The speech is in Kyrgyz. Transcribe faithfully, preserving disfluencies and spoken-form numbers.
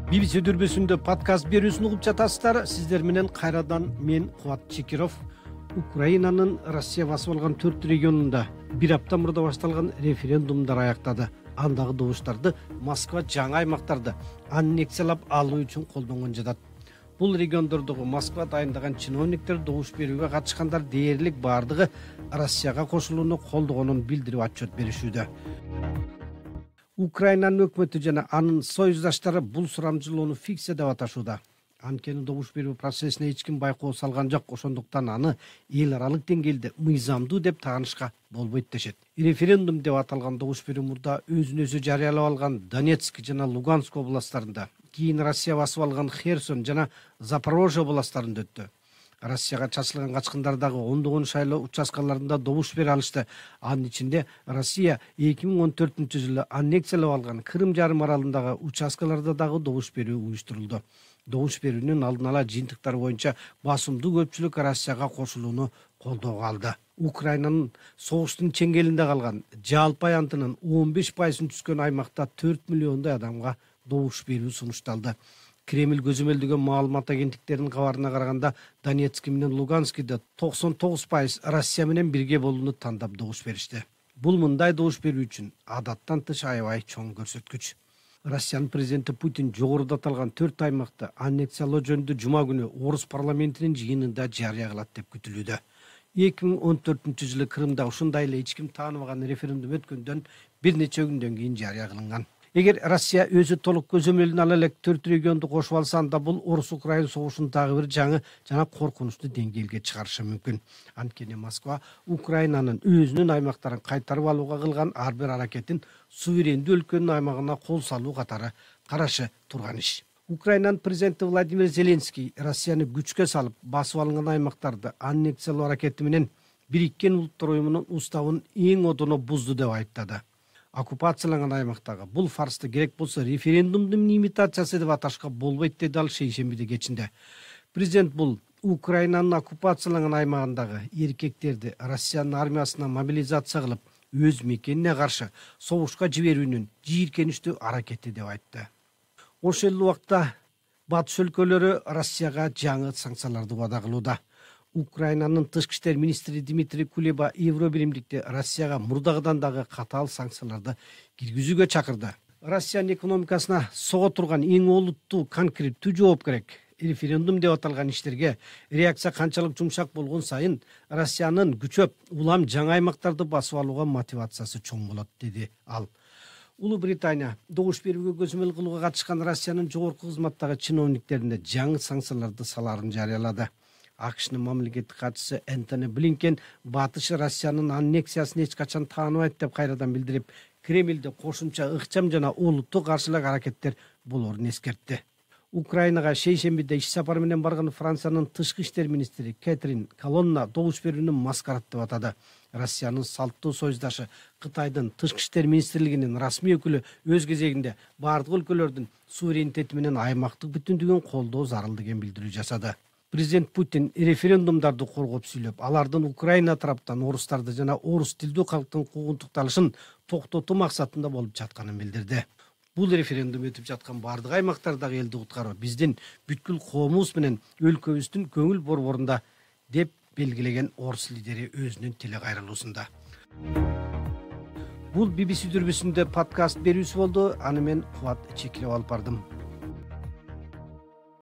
би би си дүрбүсүндө подкаст берүүсүн угуп жатасыздар. Сиздер менен кайрадан мен Кубат Чекиров. Украинанын Россия басып алган төрт регионунда бир апта мурда башталган референдумдар аяктады. Андагы добуштарды Москва жаңы аймактарды аннексиялап алуу үчүн колдонгон жатат. Бул региондордогу Москва дайындаган чиновниктер добуш берүүгө катышкандар дээрлик бардыгы Россияга кошулууну колдогонун билдирип отчет беришүүдө. Украинанын өкмөтү жана анын союздаштары бул сурамжылоону фикция деп аташууда. Анткени добуш берүү процессине эч ким байкоо салган жок, ошондуктан аны эл аралык деңгээлде мыйзамдуу деп таанышка болбойт дешет. Референдум деп аталган добуш берүү мурда өзүн өзү жарыялап алган Донецк жана Луганск областтарында, кийин Россия басып алган Херсон жана Запорожье областтарында өттү. Россияга чачылган качкындардагы ондогон шайлоо участкаларында добуш бере алышты. Анын ичинде Россия эки миң он төртүнчү жылы аннексиялап алган Крым жарым аралындагы участкаларда дагы добуш берүү уюштурулду. Добуш берүүнүн алдын ала жыйынтыктары боюнча басымдуу көпчүлүк Россияга кошулууну колдоого алды. Украинанын согуштун чеңгелинде калган жалпы аянтынын он беш пайызын түзгөн аймакта төрт миллиондой адамга добуш берүү сунушталды. Кремль көзөмөлдөгөн маалымат агенттиктеринин кабарына караганда Донецк менен Луганскиде токсон тогуз пайыз Россия менен бирге болууну тандап добуш беришти. Бул мындай добуш берүү үчүн адаттан тыш аябай чоң көрсөткүч. Россиянын президенти Путин жогоруда аталган төрт аймакты аннексиялоо жөнүндө жума күнү орус парламентинин жыйынында жарыя кылат деп күтүлүүдө. эки миң он төртүнчү жылы Крымда ушундай эле эч ким тааныбаган референдум өткөндөн бир нече күндөн кийин жарыя кылынган. Эгер Россия өзү толук көзөмөлүн ала элек төрт регионду кошуп алса, анда бул орус-украин согушун дагы бир жаңы жана коркунучтуу деңгээлге чыгарышы мүмкүн. Анткени Москва Украинанын өзүнүн аймактарын кайтарып алууга кылган ар бир аракетин суверендүү өлкөнүн аймагына кол салуу катары карашы турган иш. Украинанын президенти Владимир Зеленский Россияны күчкө салып басып алынган аймактарды аннексиялоо аракети менен Бириккен Улуттар уюмунун уставын эң одоно бузду деп айыптады. Оккупацияланган аймактагы бул фарсты керек болсо референдумдун имитациясы деп аташка болбойт, деди ал шейшембиде кечинде. Президент бул Украинанын оккупацияланган аймагындагы эркектерди Россиянын армиясына мобилизация кылып, өз мекенине каршы согушка жиберүүнүн жийиркеничтүү аракети деп айтты. Ошол эле убакта батыш өлкөлөрү Россияга жаңы санкцияларды вада кылууда. Украинанын тышкы иштер министри Дмитрий Кулеба Евробиримдикте Россияга мурдагыдан дагы катаал санкцияларды киргизүүгө чакырды. Россиянын экономикасына сого турган эң олуттуу конкреттүү жооп керек. Референдум деп аталган иштерге реакция канчалык жумшак болгон сайын Россиянын күчөп улам жаңы аймактарды басып алууга мотивациясы чоң болот, деди ал. Улуу Британия добуш берүүгө көзөмөл кылууга катышкан Россиянын жогорку кызматтагы чиновниктерине жаңы санкцияларды салаарын жарыялады. АКШнын мамлекеттик катчысы Энтони Блинкен батыш Россиянын аннексиясын эч качан тааныбайт деп кайрадан билдирип, Кремльде кошумча ыкчам жана олуттуу каршылык аракеттер болоорун эскертти. Украинага шейшембиде иш сапары менен барган Франциянын тышкы иштер министри Кэтрин Колонна добуш берүүнү маскарат деп атады. Россиянын салттуу союздашы Кытайдын тышкы иштер министрлигинин расмий өкүлү өз кезегинде бардык өлкөлөрдүн суверенитети менен аймактык бүтүндүгүн колдоо зарыл деген билдирүү жасады. Президент Путин референдумдарды коргоп сүйлөп, алардын Украина тараптан орустарды жана орус тилдүү калктын куугунтукталышын токтотуу максатында болуп жатканын билдирди. Бул референдум өтүп жаткан бардык аймактардагы элди куткаруу биздин бүткүл коомубуз менен өлкөбүздүн көңүл борборунда, деп белгилеген орус лидери өзүнүн теле кайрылуусунда. Бул би би си дүрбүсүндө подкаст берүүсү болду. Аны мен Кубат Чекиров алып бардым.